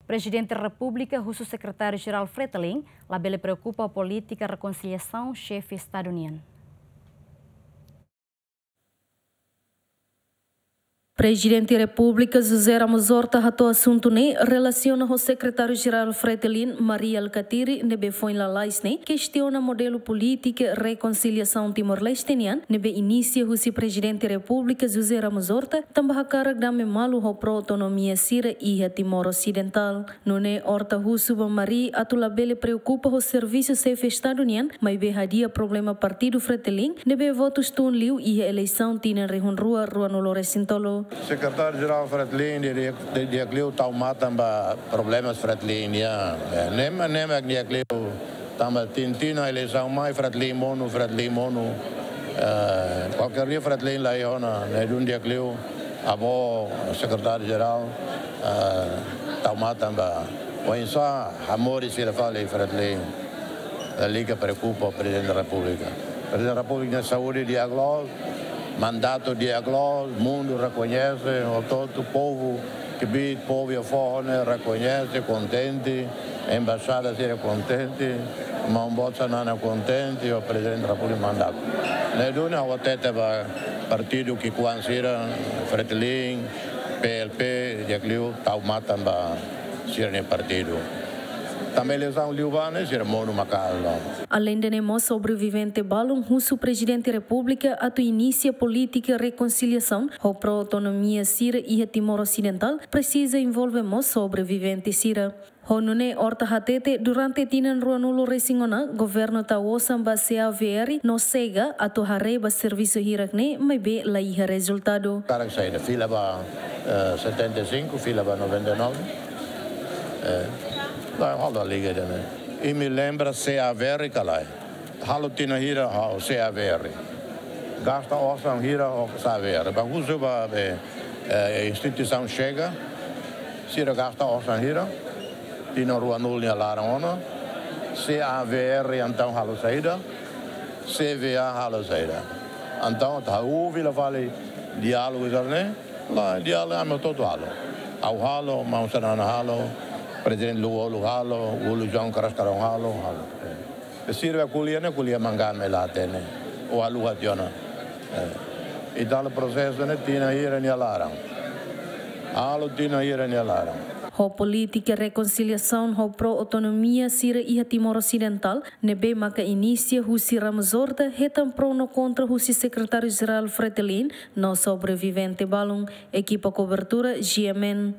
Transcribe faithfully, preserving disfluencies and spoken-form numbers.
Prezidente Repúblika husu Sekretáriu-Jerál Fretilin labele preokupa polítika rekonsiliasaun xefe Estadu nian. Prezidente Repúblika José Ramos Horta hato'o asuntu ne'e relasiona ho Sekretáriu-Jerál Fretilin Mari Alkatiri ne'ebé foin lalais ne'e kestiona modelu polítika rekonsiliasaun Timor-Leste nian ne'ebé inisia husi Prezidente Repúblika José Ramos Horta tanba hakarak dame malu ho pró-autonomia sira iha Timor Osidentál. Nune'e Horta husu ba Mari atu labele preokupa ho servisu xefe Estadu nian, maibé hadi'a problema partidu Fretilin ne'ebé votus tun liu iha eleisaun tinan rihun rua ruanulu resin tolu. Sekretáriu-Jerál Fretilin di'ak, di'ak, di'ak liu tau matan ba problema Fretilin nian. Eh, ne'e mak, ne'e mak di'ak liu tanba tin, tinan eleisaun mai Fretilin monu, Fretilin monu. Eh, kualkér dia Fretilin la iha ona, ne'e duni di'ak liu. Avó Sekretáriu-Jerál, eh, tau matan ba. Oinsá hamoris sira fali Fretilin. Lalika preokupa Prezidente Repúblika. Prezidente Repúblika nia saúde di'ak loos, mandatu di'ak loos, mundu rekoñese, hotu-hotu povu, kbiit povu iha foho ne'e rekoñese, kontente, embaixada sira kontente, maun boot Xanana kontente, ho Prezidente Repúblika mandatu. Ne'e duni ha'u hatete ba partidu ki'ikoan sira, Fretilin, P L P, di'ak liu tau matan ba sira-nia partidu. Tanba eleisaun liubá ne'e sira monu maka'as loos. Aleinde ne'e mós sobrevivente balun husu Prezidente Repúblika atu inisia polítika rekonsiliasaun ho pró-autonomia sira iha Timor Osidentál presiza envolve mós sobrevivente sira. Ho nune'e Horta hatete durante tinan ruanulu resin ona governu tau osan ba C A V R no Chega atu haree ba servisu hirak ne'e maibé la iha rezultadu. Karik saida, fila ba, eh, setenta e cinco, fila ba noventa e nove. Eh, la, halo liga de ne'e. Imi lembra C A V R ka lae? Halo tinan hira ho C A V R. Gasta osan hira ho C A V R. Ba husu ba be, eh, instituisaun Chega. Sira gasta osan hira. Tinan ruanulu nia laran ona. C A V R entaun halo saida. C V A halo saida. Entaun ita halo fila fali diálogu sira-ne'e. La diálogu ami hotu-hotu halo. Ha'u halo, maun Xanana halo, Prezidente Lú-Olo halo, Ulloa João Kras Karón halo, halo. Eh, sira ko'alia ne'e, ko'alia mangá mak la hatene. Ou haluha tiha ona. Eh, ita halo prosesu ne'e tinan hira nia laran. Halo tinan hira nia laran. Ho polítika rekonsiliasaun ho pró-autonomia sira iha Timor Osidentál, ne'ebé maka inisia husi Ramos Horta, hetan pró no kontra husi Sekretáriu-Jerál Fretilin, no sobrevivente balun, ekipa kobertura G M N.